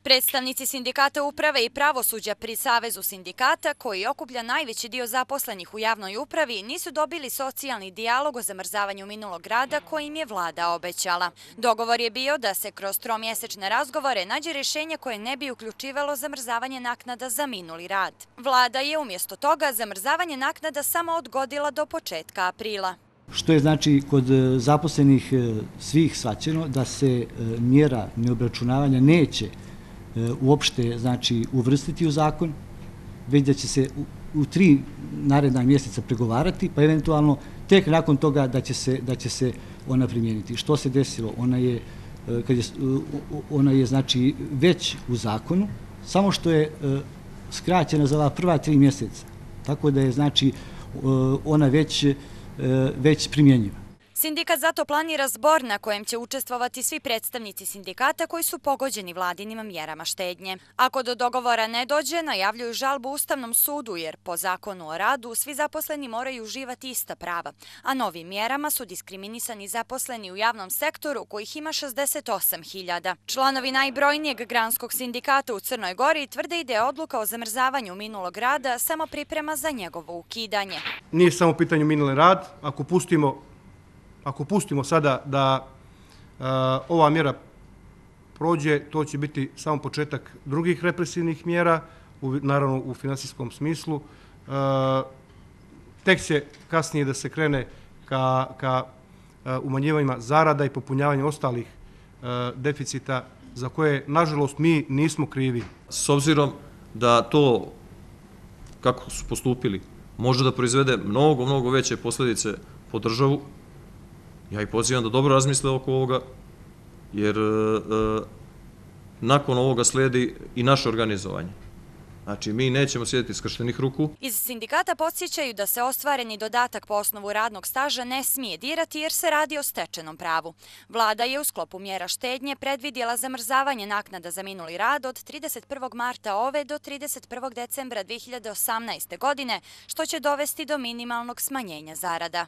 Predstavnici sindikata uprave i pravosuđa pri Savezu sindikata, koji okuplja najveći dio zaposlenih u javnoj upravi, nisu dobili socijalni dijalog o zamrzavanju minulog rada koji im je vlada obećala. Dogovor je bio da se kroz tromjesečne razgovore nađe rješenje koje ne bi uključivalo zamrzavanje naknada za minuli rad. Vlada je umjesto toga zamrzavanje naknada samo odgodila do početka aprila. Što je znači kod zaposlenih svih shvaćeno da se mjera neobračunavanja neće uopšte znači uvrstiti u zakon, već da će se u 3 naredna mjeseca pregovarati, pa eventualno tek nakon toga da će se ona primijeniti. Što se desilo? Ona je znači već u zakonu, samo što je skraćena za ova prva 3 mjeseca, tako da je znači ona već primjenjiva. Sindikat zato planira zbor na kojem će učestvovati svi predstavnici sindikata koji su pogođeni vladinim mjerama štednje. Ako do dogovora ne dođe, najavljuju žalbu Ustavnom sudu jer po zakonu o radu svi zaposleni moraju uživati ista prava, a novim mjerama su diskriminisani zaposleni u javnom sektoru kojih ima 68.000. Članovi najbrojnijeg granskog sindikata u Crnoj Gori tvrde da je odluka o zamrzavanju minulog rada samo priprema za njegovo ukidanje. Nije samo pitanje minuli rad, ako pustimo sada da ova mjera prođe, to će biti samo početak drugih represivnih mjera, naravno u finansijskom smislu. Tek će kasnije da se krene ka umanjivanjima zarada i popunjavanju ostalih deficita za koje, nažalost, mi nismo krivi. S obzirom da to, kako su postupili, može da proizvede mnogo veće posljedice po državu, ja ih pozivam da dobro razmisle oko ovoga, jer nakon ovoga slijedi i naše organizovanje. Znači, mi nećemo sjediti skrštenih ruku. Iz sindikata podsjećaju da se ostvareni dodatak po osnovu radnog staža ne smije dirati jer se radi o stečenom pravu. Vlada je u sklopu mjera štednje predvidjela zamrzavanje naknada za minuli rad od 31. marta ove do 31. decembra 2018. godine, što će dovesti do minimalnog smanjenja zarada.